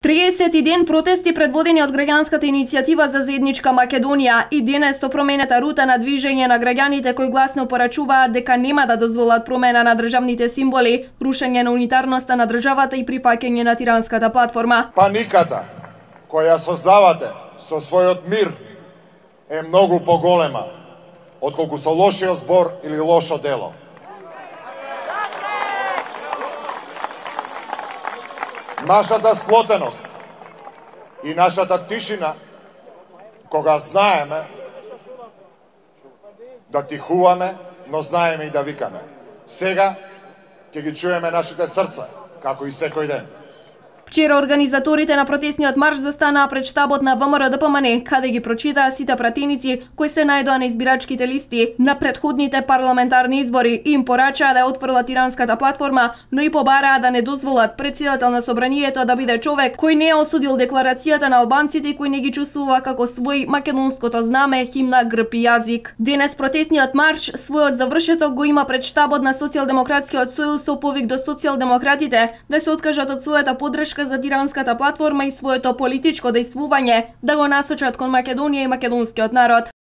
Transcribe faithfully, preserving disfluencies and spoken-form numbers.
триесети ден протести предводени од граѓанската иницијатива за заедничка Македонија и денес со променета рута на движење на граѓаните кои гласно порачуваат дека нема да дозволат промена на државните символи, рушење на унитарноста на државата и прифаќање на тиранската платформа. Паниката која создавате со својот мир е многу поголема отколку со лошиот збор или лошо дело. Нашата сплотеност и нашата тишина, кога знаеме да тихуваме, но знаеме и да викаме. Сега ќе ги чуеме нашите срца, како и секој ден. Вчера организаторите на протестниот марш застанаа пред штабот на ВМРО-ДПМН, каде ги прочитаа сите пратеници кои се најдоа на избирачките листи на претходните парламентарни избори и им порачаа да ја отфрла тиранската платформа, но и побараа да не дозволат претседател на собранието да биде човек кој не ја осудил декларацијата на албанците и кој не ги чувствува како свој македонското знаме, химна, грб и јазик. Денес протестниот марш својот завршеток го има пред штабот на Социјалдемократскиот сојуз со повик до социјалдемократите да се откажат од својата поддршка за тиранската платформа и своето политичко дејствување, да го насочат кон Македонија и македонскиот народ.